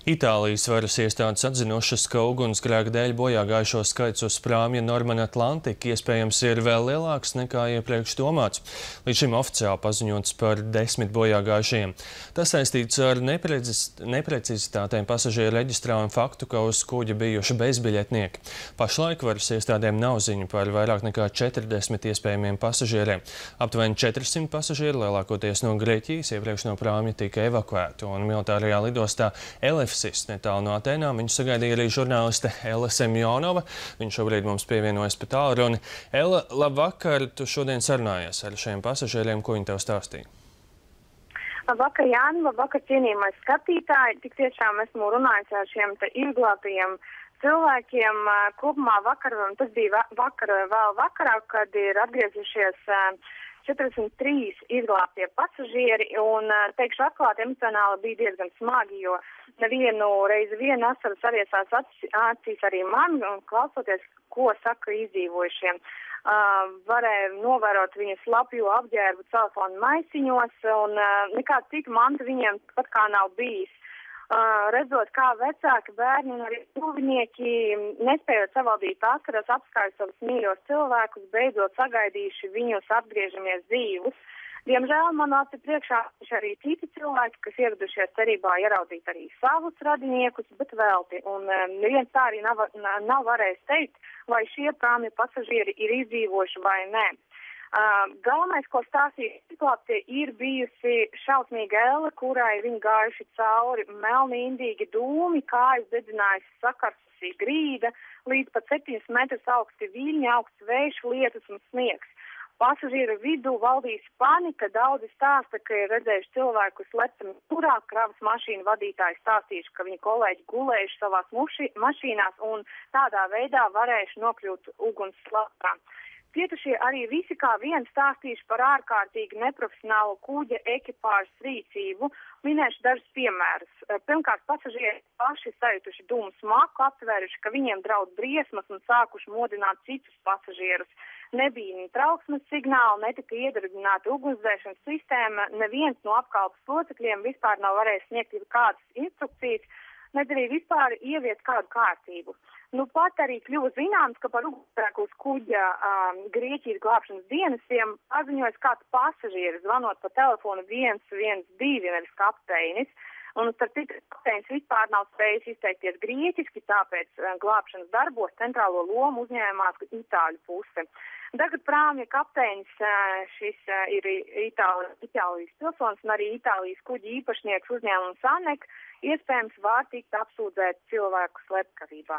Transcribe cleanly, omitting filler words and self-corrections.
Itālijas varas iestādes atzinušas, ka ugunsgrēka dēļ bojā gājušo skaits uz prāmja Norman Atlantic iespējams ir vēl lielāks nekā iepriekš domāts. Līdz šim oficiāli paziņots par 10 bojā gājušajiem. Tas saistīts ar neprecizitātēm pasažieru reģistrā un faktu, ka uz kuģa bijuši bezbiļetnieki. Pašlaik varas iestādēm nav ziņu par vairāk nekā 40 iespējamiem pasažieriem. Aptuveni 400 pasažieri, lielākoties no Grieķijas, iepriekš no prāmja tika evakuēti, un militārajā lidostā netālu no Atēnām viņu sagaidīja arī žurnāliste Ella Semjonova. Viņa šobrīd mums pievienojas pa tālruni. Ella, labvakar! Tu šodien sarunājies ar šiem pasažieriem. Ko viņi tev stāstīja? Labvakar, Jāni! Labvakar, cienījamais skatītāji! Tik tiešām esmu runājis ar šiem izglābtajiem cilvēkiem. Kopumā vakar, tas bija vēl vakarā, kad ir atgriezušies 43 izglābtie pasažieri, un, teikšu atklāti, emocionāli bija diezgan smagi, jo nevienu reizi asaras aviesās acīs arī man, un klausoties, ko saka izdzīvojušiem. Varēja novērot viņu slapjo apģērbu telefonu maisiņos, un nekāda cita manta viņiem pat kā nav bijis. Redzot, kā vecāki, bērni un arī tuvinieki, nespējot savaldīt asaras, apskārt savus mīļos cilvēkus, beidzot sagaidījuši viņus atgriežamies dzīvus. Diemžēl man aci priekšā arī citi cilvēki, kas ieradušies cerībā ieraudzīt arī savus radiniekus, bet velti. Un neviens tā arī nav varējis teikt, vai šie prāmja pasažieri ir izdzīvojuši vai nē. Galvenais, ko stāstīja izglābtie, ir bijusi šausmīga elle, kurai viņi gājuši cauri melni indīgi dūmi, kājas dedzinājusi sakarsusī grīda, līdz pat 7 metrus augsti viļņi, augsts vējš, lietus un sniegs. Pasažieru vidū valdīs panika, daudzi stāsta, ka ir redzējuši cilvēkus lecami turā, kravas mašīnu vadītāji stāstījuši, ka viņi kolēģi gulējuši savās mašīnās un tādā veidā varējuši nokļūt uguns slapkā. Cietušie arī visi kā viens stāstījuši par ārkārtīgi neprofesionālu kuģa ekipāžas rīcību. Minēšu dažus piemērus. Pirmkārt, pasažieri paši sajutuši dūmu smaku, aptvēruši, ka viņiem draud briesmas un sākuši modināt citus pasažierus. Nebija ne trauksmes signāla, netika iedarbināta ugunsdzēšanas sistēma, neviens no apkalpes locekļiem vispār nav varējis sniegt kādas instrukcijas, nedz arī vispār ieviest kādu kārtību. Nu pat arī kļuva zināms, ka par ugunsgrēku uz kuģa Grieķijas glābšanas dienestiem paziņojas kāds pasažieris, zvanot pa telefonu 112, nevis kapteinis. Un starp citu, kapteinis vispār nav spējis izteikties grieķiski, tāpēc glābšanas darbos centrālo lomu uzņēmās itāļu puse. Tagad prāmja kapteinis, šis ir Itālijas pilsonis un arī Itālijas kuģa īpašnieks uzņēmums ANEK, iespējams var tikt apsūdzēt cilvēku slepkavībā.